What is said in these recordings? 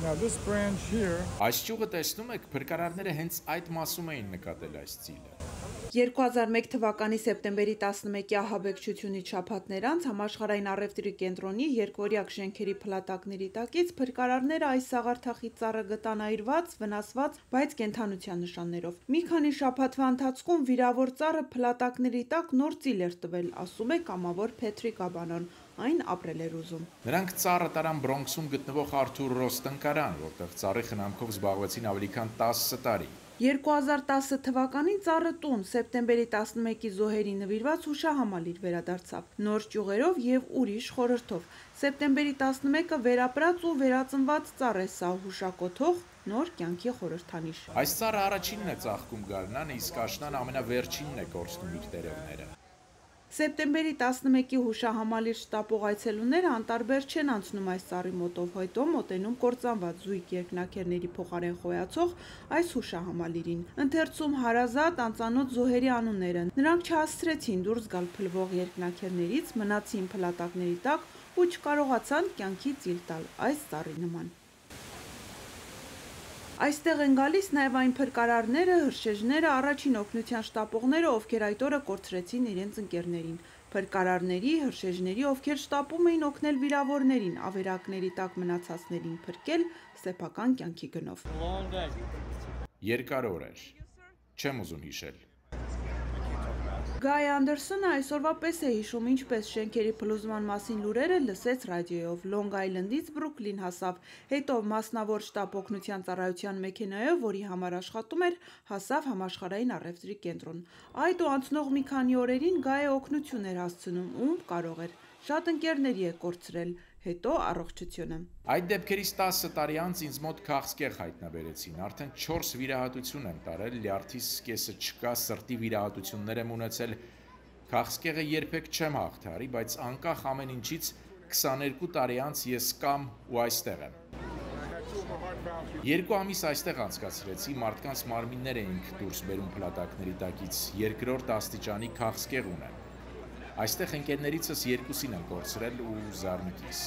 Now this branch here. Այս ճյուղը տեսնում եք, փրկարարները հենց այդ մասում էին նկատել այս ծիլը։ 2001 թվականի սեպտեմբերի 11-ի ահաբեկչությունից շաբաթներ անց Համաշխարհային առևտրի կենտրոնի երկվորյակ շենքերի փլատակների տակից փրկարարները այս սաղարթախի ծառը գտան այրված, վնասված, բայց կենդանության նշաններով։ Մի քանի շաբաթվա ընթացքում վիրավոր ծառը փլատակների տակ նոր ծիլ էր տվել, ասում է կամավոր Փեթրիկ Աբանոն, այն ապրել էր ուզում։ Նրանք ծառը տարան Բրոնքսում գտնվող Արթուր Ռոս տնկարան, որտեղ ծառի խնամքով զբաղվեցին ավելի քան 10 տարի։ 2010 թվականին ծառը տուն սեպտեմբերի 11-ի զոհերի նվիրված հուշահամալիր վերադարձավ, նոր ճյուղերով եւ ուրիշ խորհրդով։ Սեպտեմբերի 11-ը վերապրած ու վերածնված ծառ է սա հուշակոթող նոր կյանքի խորհրդանիշ։ Այս ծառը առաջինն է ծաղկում գարնանը, իսկ աշնան ամենավերջինն է կորցնում իր տերևները։ Սեպտեմբերի 11-ի հուշահամալիր շտապող այցելուները անտարբեր չեն անցնում այս ծառի մոտով, հետո մոտենում կործանված զույգ երկնաքերների փոխարեն խոյացող այս հուշահամալիրին։ Ընթերցում հարազատ անծանոթ զոհերի անունները։ Նրանք չհասցրեցին դուրս գալ փլվող երկնաքերներից, մնացին փլատակների տակ ու չկարողացան կյանքի ծիլ տալ այս ծառի նման։ Այստեղ են գալիս նաև այն փրկարարները, հրշեջները, առաջին օգնության շտապողները, ովքեր այդ օրը կորցրեցին իրենց ընկերներին։ Փրկարարների, հրշեջների, ովքեր շտապում էին օգնել վիրավորներին, ավերակների տակ մնացածներին փրկել սեփական կյանքի գնով։ Երկար օր էր։ Չեմ ուզում հիշել։ Գայ Անդերսոնը այսօրվա պես է հիշում, ինչպես շենքերի փլուզման մասին լուրերը լսեց ռադիոյով, Լոնգ Այլնդից Բրուքլին հասավ, հետո մասնավոր շտապ օգնության ծառայության մեքենայով, որի համար աշխատում էր, հասավ Համաշխարհային առևտրի կենտրոն։ Այդ ու անցնող մի քանի օրերին Գայը օգնություն էր հասցնում, ում կարող էր։ Շատ ընկերների է կորցրել, հետո առողջությունը։ Այդ դեպքերից 10 տարի անց ինձ մոտ քաղցկեղ հայտնաբերեցին, արդեն 4 վիրահատություն եմ տարել, լյարդիս կեսը չկա, սրտի վիրահատություններ եմ ունեցել, քաղցկեղը երբեք չեմ հաղթարի, բայց անկախ ամեն ինչից 22 տարի անց ես կամ ու այստեղ եմ։ 2 ամիս այստեղ անցկացրեցի, մարդկանց մարմիններ էինք դուրս բերում փլատակների տակից, երկրորդ աստիճանի քաղցկեղ ունեմ։ Այստեղ ընկերներիցս 2-ին եմ կորցրել ու զարմիկիս։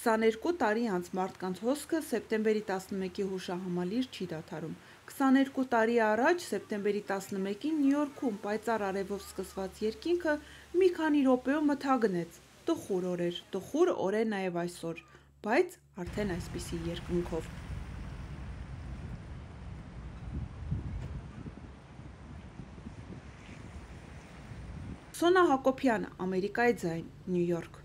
22 տարի անց մարդկանց հոսքը սեպտեմբերի 11-ի հուշահամալիր չի դադարում։ 22 տարի առաջ սեպտեմբերի 11-ին Նյու Յորքում պայծառ արևով սկսված երկինքը մի քանի րոպեում մթագնեց։ Տխուր օր էր, տխուր օր է նաև այսօր, բայց արդեն այսպիսի երկնքով։ Սոնա Հակոբյան, Ամերիկայի ձայն, Նյու Յորք։